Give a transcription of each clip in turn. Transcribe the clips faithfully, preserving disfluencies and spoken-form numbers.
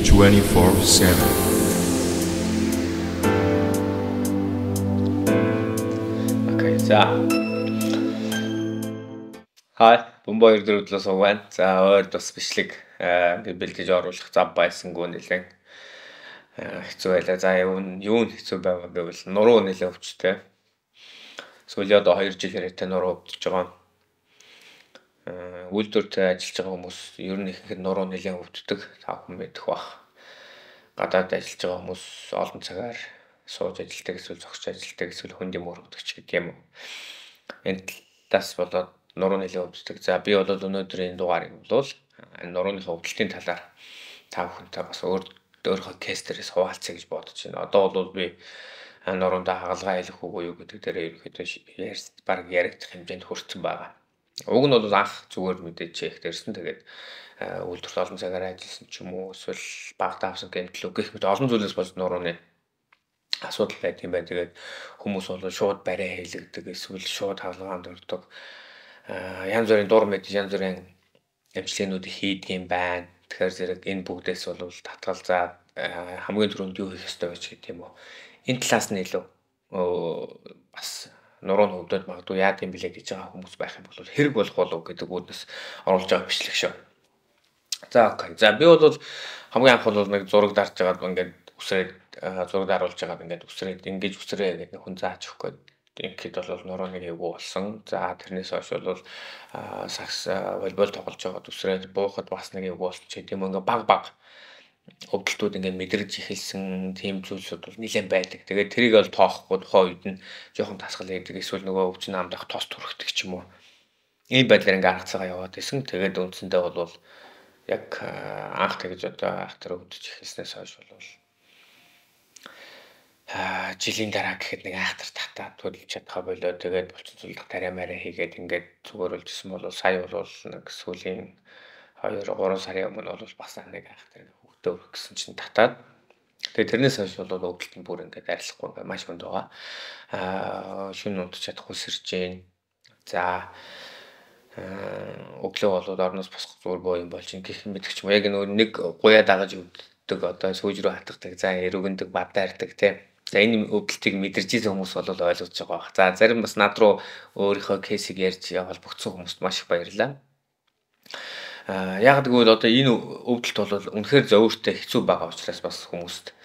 twenty-four seven. Окей, за. Хай, бомбо ирдэр өдлөөс угаан. За, өөр тус бичлэг ингээд бэлдэж оруулах зав байсангүй нэлээд хэцүү байлаа. За, юу юу хэцүү байгаа гэвэл нуруу нэлээд өвчтэй. Сүүлийн одоо хоёр жил хэрэг нуруу өвдөж байгаа. Үйлдвэртэй ажиллаж байгаа хүмүүс ер нь ихэнх нуруу нэлээд өвддөг. Та бүхэн мэдэх бах. Гадаад ажиллаж байгаа хүмүүс олон цагаар сууж ажилладаг эсвэл зогсож ажилладаг эсвэл хөндийн мөрөгдөг ч гэдэг юм уу. Энд талаас болоод нуруу нэлээд өвддөг. За би бол өнөөдрийн дугаарыг бол нурууныхаа өвдөлтийн талаар та бүхэнтэй бас өөр өөрийнхөө кейстерээс хуваалцъя гэж бодож байна. Одоо бол би нуруундаа хагалгаа хэлэх үгүй юу гэдэг дээр ерөөхдөө ярьж баг яригдах хэмжээнд хүрсэн байгаа. Уг нь бол анх зүгээр мэдээж чек дээрсэн. Тэгээд үйлдвэрт олон цагаар ажилласан ч юм уу эсвэл багтаа авсан гэмтэл гэх мэт олон зүйлээс болж нурууны асуудал байдаг юм байна. Тэгээд хүмүүс бол шууд барай хийлэгдэг эсвэл шууд хаалгаанд өрдөг. Янз бүрийн дур мэдж янз бүрийн эмчилгээнүүд хийдэг юм байна. Тэгэхээр зэрэг энэ бүгдээс бол татгал за хамгийн түрүүнд юу хийх ёстой вэ гэдэг юм уу. Энэ талаас нь илүү бас нуруу нь өвдөд магадгүй яад юм блэ гэж байгаа хүмүүс байх юм бол хэрэг болох болов гэдэг үүднээс оруулж байгаа бичлэг шүү. За окей. За би бол хамгийн анх бол нэг зураг дарж байгаад ингээд үсрээд зураг даруулж байгаад ингээд үсрээд ингэж үсрээ гэдэг хүн зааж өгөх гээд ингээд бол нурууны эвгүй болсон. За тэрнээс хойш бол сакс волейбол тоглож байгаад үсрээд буухад бас нэг эвгүй болсон ч гэдэм ингээд баг баг өвдөлтүүд ингээд мэдрэж эхэлсэн тийм зүйлсүүд бол нэлээд байдаг. Тэгээд тэрийг бол тоохгүй тухайн үед нь жоохон тасгал хийдэг эсвэл нөгөө өвчин амдах тос түрхдэг ч юм уу. Ийм байдлаар ингээд арга цагаа яваад байсан. Тэгээд үндсэндээ бол яг анх тэгж одоо ах тэр өвдөж эхэлснээс хойш бол аа жилийн дараа гэхэд нэг айхтар татаад төлж чадхаа болоо. Тэгээд булчин цулдах тариамаараа хийгээд ингээд зүгээр үлжсэн бол сая бол нэг сүүлийн хоёр гурван сарын өмнө бол бас нэг айхтар хөвгтөө өргөсөн чинь татаад. Тэгээд тэрнээс хойш бол өвдөлт нь бүр ингээд арилахгүй ингээд маш хүнд байгаа. Аа шүн унтж чадахгүй сэрж гин. За өглөө болоод орноос босох зүгээр боо юм болж гэх мэдэх ч юм. Яг нэг гуяа дагаж өвддөг одоо сүүж рүү хатгадаг. За эрүүгэндэг бавдаардаг тийм. За энэ өвдөлтийг мэдэрч байгаа хүмүүс бол ойлгож байгаа бах. За зарим бас над руу өөрийнхөө кейсийг ярьж холбогдсон хүмүүст маш их баярлалаа. Аа яг гэвэл одоо энэ өвдөлт бол үнэхээр зөөвөртэй хэцүү байгаа учраас бас хүмүүст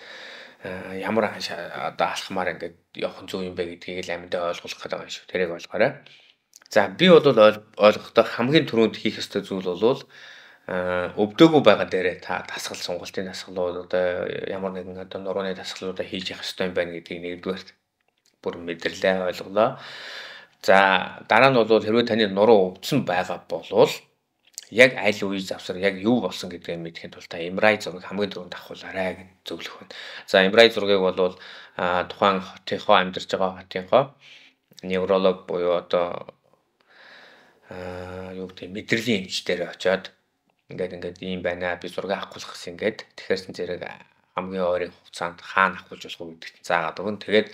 ямар одоо алхмаар ингээд явах зүг юм бэ гэдгийг л амьдаа ойлгуулах гэдэг юм шүү. Тэрийг ойлгоорой. За би бол ойлгохдоо хамгийн түрүүнд хийх ёстой зүйл бол өвдөөгүй байгаа дээрээ та дасгал сонголтын дасгалууд одоо ямар нэгэн одоо нурууны дасгалуудаа хийж явах ёстой юм байна гэдгийг нэгдүгээр бүр мэдэрлээ ойлголоо. За дараа нь бол хэрвээ таны нуруу өвдсөн байгаа болвол яг аль үе завсар яг юу болсон гэдгийг мэдхийн тулд та эм ар ай зургийг хамгийн түрүүнд авахулаарай гэж зөвлөх байна. За эм ар ай зургийг бол тухайн хотынхоо амьдарч байгаа хотынхоо невролог буюу одоо аа юу гэдэг мэдрэлийн эмчдэр очиод ингээд ингээд ийм байна би зураг авахгүйх гэсэн ингээд тэгэхээр зэрэг хамгийн ойрын хугацаанд хаана авахулж болох вэ гэдэгт заагаад өгөн. Тэгээд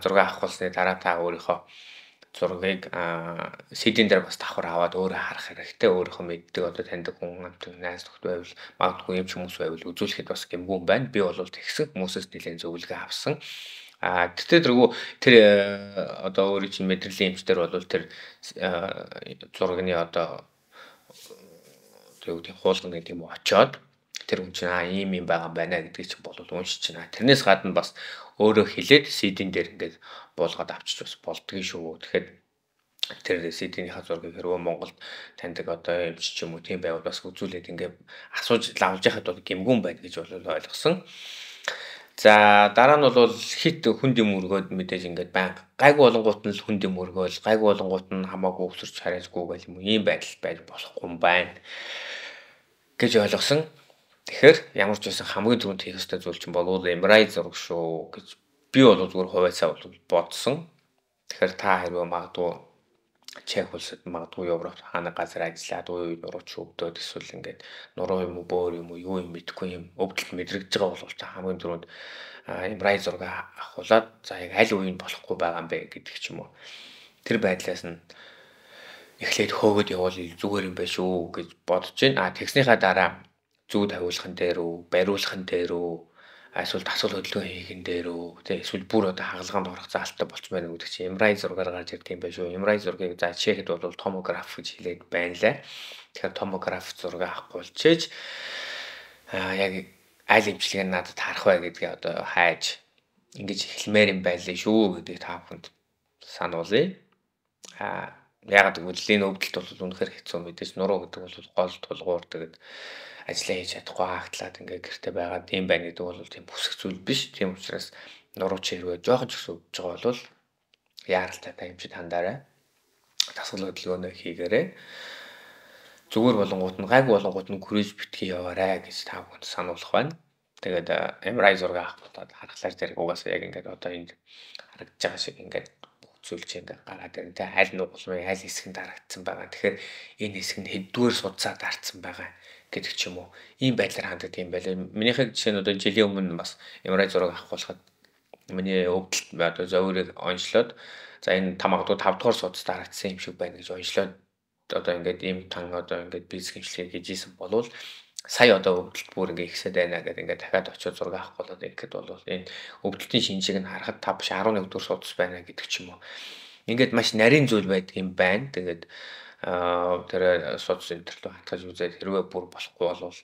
зураг авахулсны дараа та өөрийнхөө зургийг си ди-н дээр бас давхар аваад өөрөө харах хэрэгтэй. Өөрийнхөө мэддэг одоо таньдаг хүн амт найз нөхд байвал магадгүй юм ч хүмүүс байвал үзүүлэхэд бас гэмгүй юм байна. Би бол тэгсэн хүмүүсээс нэлээд зөвлөгөө авсан. А тэгтээ тэргүй тэр одоо өөрийн чинь мэдрэлийн эмчтэр бол тэр зургийн одоо юу гэдэг хуулган гэдэг юм уу очоод тэр хүн чинь аа ийм юм байгаа байна гэдгийг чинь бол уншиж байна. Тэрнээс гадна бас өөрөө хэлээд си ди-н дээр ингээд буулгаад авчиж бас болдгийн шүү. Тэгэхээр тэр си ди-ний зургийг хэрвээ Монголд таньдаг одоо эмч ч юм уу тийм байвал бас үзүүлээд ингээд асууж лавж яхад бол гэмгүн байна гэж бол ойлгосон. За дараа нь бол хит хүндийн мөргөөд мэдээж ингээд баян гайгүй болонгууд нь л хүндийн мөргөөл гайгүй болонгууд нь хамаагүй өсөрч харьяасгүй гэл юм ийм байдал байж болохгүй юм байна гэж ойлгосон. Тэгэхээр ямар ч байсан хамгийн түрүүнд хийх ёстой зүйл чинь болов эм ар ай зураг шүү гэж би бол зүгээр хувьцаа бол бодсон. Тэгэхээр та хэрвээ магадгүй Чех улсад магадгүй Европ хаана газар ажиллаад уу нурууч өвдөөд эсвэл ингээд нуруу юм уу бөөр юм уу юу юм мэдэхгүй юм өвдөлт мэдрэгдэж байгаа бол та хамгийн түрүүнд эм ар ай зураг авахулаад за яг аль үеийн болохгүй байгаа юм бэ гэдэг ч юм уу. Тэр байдлаас нь эхлээд хөөгд явуул зүгээр юм байна шүү гэж бодож байна. А тэгснийхаа дараа зүү тавиулахын дээр үү, бариулахын дээр үү, эсвэл дасгал хөдөлгөөн хийхин дээр үү, тий эсвэл бүр одоо хагалгаанд орох заалттай болцмоор гэдэг чинь эм ар ай зургаар гарч ирдэг юм байна шүү. эм ар ай зургийг за чехэд бол томограф гэж хэлээд байна лээ. Тэгэхээр томограф зураг авахгүй болчихж аа яг аль эмчилгээ надад харах вэ гэдгээ одоо хайж ингэж эхлэмээр юм байлээ шүү гэдгийг та бүхэнд сануулъя. Аа яг гэвэл энэ өвдөлт бол үнэхээр хэцүү мэдээж нуруу гэдэг бол гол тулгуур тэгээд ажиллаа хийж чадахгүй хаагтлаад ингээ гэрте байгаад юм байна гэдэг бол тийм бүсэх зүйл биш. Тийм учраас нуруу чи хэрвээ жоохон ч гэсэн өвдөж байгаа бол яаралтай та эмчид хандаарай. Дасгал хөдөлгөөнөө хийгээрэй. Зүгээр болонгууд нь гайг болонгууд нь гүрэж битгий яваарай гэж та бүхэнд сануулах байна. Тэгээд эм ар ай зураг авах бодоод харахлаар зэрэг угаасаа яг ингээд одоо энд харагдаж байгаа шиг ингээд зүйлч ингээд гараад байна. Тэ аль нугуулмын аль хэсгэнд харагдсан байгаа. Тэгэхээр энэ хэсэг нь хэддүгээр судсаа дарцсан байгаа гэдэг ч юм уу. Ийм байдлаар ханддаг юм байлаа. Минийхээ жишээ нь одоо жилийн өмнө бас эм ар ай зураг авах болоход миний өвдөлт одоо зовирыг онцлоод за энэ тамагтуу тав дахь судас дарагдсан юм шиг байна гэж онцлоод одоо ингээд ийм тан одоо ингээд бизнес хэмжлэгийг хийж исэн болвол сая одоо өвдөлт бүр ингээд ихсээд байна гэдэг ингээд дахиад очиод зураг авах болоод ихэд бол энэ өвдөлтийн шинжийг нь харахад та биш арван нэг дэх судас байна гэдэг ч юм уу. Ингээд маш нарийн зүйл байдаг юм байна. Тэгээд аа тэр судас интерлөө хатгаж үзээд хэрвээ бүр болохгүй болвол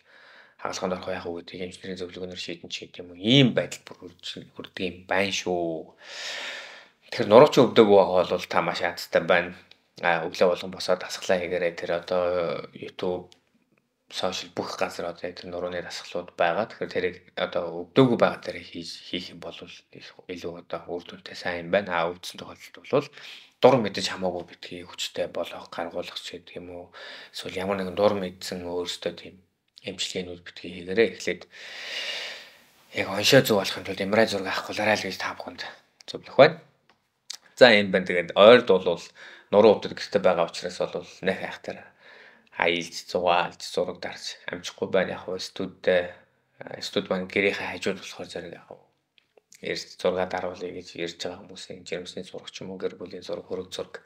хаалганд орох яах вэ гэдгийг инженерийн зөвлөгөөнөөр шийдэн ч гэдэг юм уу. Ийм байдал бүр хүрдэг юм байна шүү. Тэгэхээр нурууч өвдөг байгаа бол та маш ядтай байна. А өглөө болгон босоод дасглаа хийгээрэй. Тэр одоо YouTube, social бүх газар одоо тэр нурууны дасгалууд байгаа. Тэгэхээр тэрийг одоо өвдөөгүй байгаа дээр хийх юм бол илүү одоо үр дүнтэй сайн юм байна. А өвдсөн тохиолдолд бол дур мэдэж хамаагүй битгий хүчтэй болох, гаргуулах ч гэдэг юм уу. Эсвэл ямар нэгэн дур мэдсэн өөрөөсөө тийм эмчилгээнүүд битгий хийгээрэй. Эхлээд яг оншоо зүг болохын тулд эм ар ай зураг авах болоорой л гэж та бүхэнд зөвлөх байна. За энэ байна тэгээд ойрд бол нуруу өвдөд гэрте байгаа учраас бол нэх хайхтар хайлж зугаалж зураг дарж амжихгүй байна. Яг нь студид студ маань гэрийнхээ хажууд болохоор зэрэг яг эрс зураг даруулъя гэж ярьж байгаа хүмүүсийн жирэмсний зураг ч юм уу, гэр бүлийн зураг, хөрөг зураг,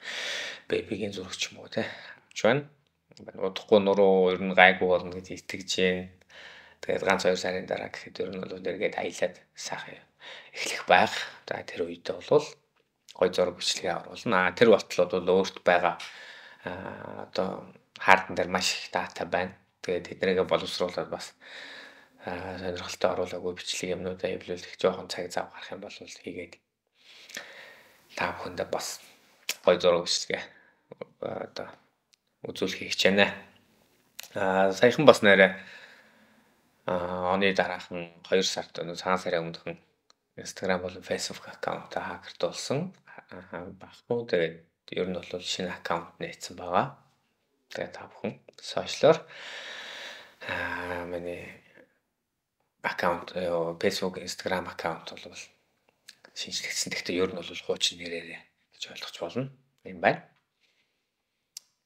бэбигийн зураг ч юм уу те авч байна. Удахгүй нуруу ер нь гайгүй болно гэж итгэж байна. Тэгээд ганц хоёр сарын дараа гэхэд ер нь бол эргээд аялаад сайхан эхлэх байх. За тэр үедээ бол гой зураг бичлэгээ оруулна. А тэр болтлууд бол өөрт байгаа одоо хаардан дээр маш их дата байна. Тэгээд тэднийгээ боловсруулаад бас сонирхолтой оруулаагүй бичлэг юмнуудаа хэвлүүлэх жоохон цаг зав гарах юм бол хийгээд та бүхэндээ бас гой зураг бичлэгээ одоо үзүүлэх хичээнэ. Аа саяхан бас нэрэ аа оны дараахан хоёр сард цагаан сарын өмнөхөн Instagram болон Facebook аккаунт хакертуулсан баггүй. Тэгээд ер нь бол шинэ аккаунт нээсэн байгаа. Тэгээд та бүхэн сошиалор аа миний аккаунт Facebook, Instagram аккаунт бол шинжлэхсэн. Гэхдээ ер нь бол хуучин нэрээрээ гэж ойлгож болно. Юм байна.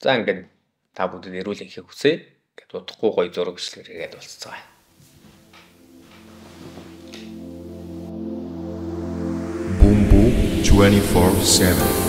За ингээд та бүдэд эрүүл энхийг хүсье. Ингээд удахгүй гоё зураг бичлэгээр гээд болцгоо. Boom Boom twenty-four seven